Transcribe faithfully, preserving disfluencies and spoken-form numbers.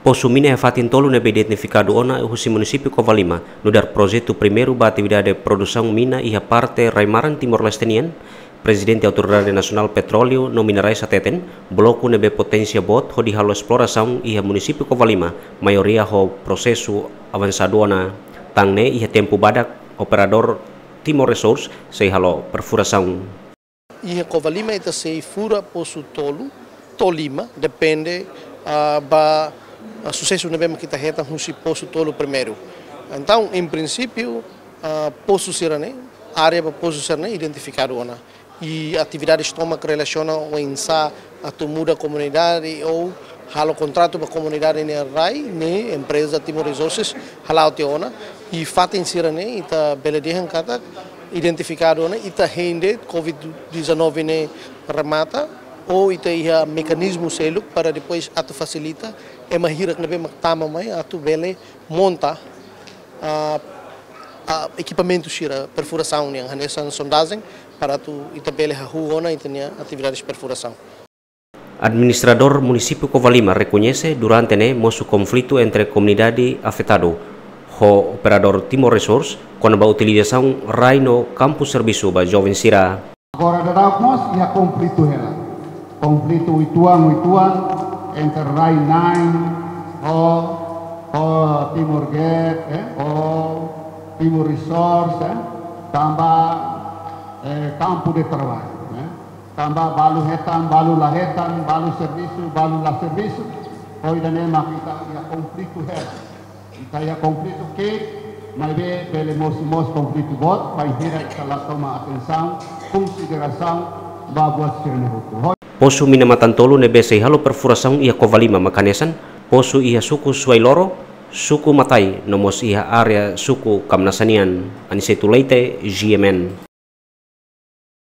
Posu mina iha fatin tolu ne'ebé identifikadu ona husi munisípiu Covalima nu'udar projetu primeiru ba atividade produsaun mina iha parte rai-maran Timor-Leste nian, Prezidente Autoridade Nasionál Petróleu no Minerais hateten, bloku ne'ebé poténsia boot hodi halo esplorasaun iha munisípiu Covalima, maioria ho prosesu avansadu ona. Tan ne'e iha tempu badak, operadór Timor Resource sei halo perfurasaun. Iha Covalima ita sei fura posu tolu to'o lima, depende, ah, ba, ah, susesu ne'ebé mak ita hetan husi posu tolu primeiru. Entaun, em princípio, ah, posu sira-ne'e, área ba posu sira-ne'e identifikadu ona. I atividades tomak relasiona oinsá atu muda komunidade ou halo kontratu ba komunidade nia rai, ne'e empreza Timor Resources hala'o tiha ona. I fatin sira-ne'e ita bele dehan katak identifikadu ona, ita hein de'it Covid dezanove ne'e remata, ou ita iha mekanizmu seluk para depois atu fasilita ema hirak ne'ebé mak tama mai atu bele monta, ah, ah, ekipamentu sira perfurasaun nian, hanesan sondajen, para atu ita bele hahú ona ita-nia atividades perfurasaun. Administradór Munisípiu Covalima rekoñese durante ne'e mosu konflitu entre komunidade afetadu ho operadór Timor Resource kona-ba utilizasaun rai no kampu servisu ba joven sira. Agora daudaun mós iha konflitu hela. Konflitu uitoan, uitoan entre rai-na'in ho, ho Timor Gad, eh, ho Timor Resource, eh, tanba, eh, kampu de traballu, eh. Tanba balu hetan, balu la hetan, balu servisu, balu la servisu. Ho ida-ne'e mak ita iha konflitu hela. Ita iha konflitu ki'ik, maibé bele mosu mós konflitu boot, bainhira ita la toma atensaun, konsiderasaun ba buat sira-ne'e hotu. Posu mina matan-tolu ne'ebé sei halo perfurasaun iha Covalima mak hanesan posu iha suku Suailoro, suku Matai, no mós iha área suku Kamnasa nian. Aniceto Leite, G M N.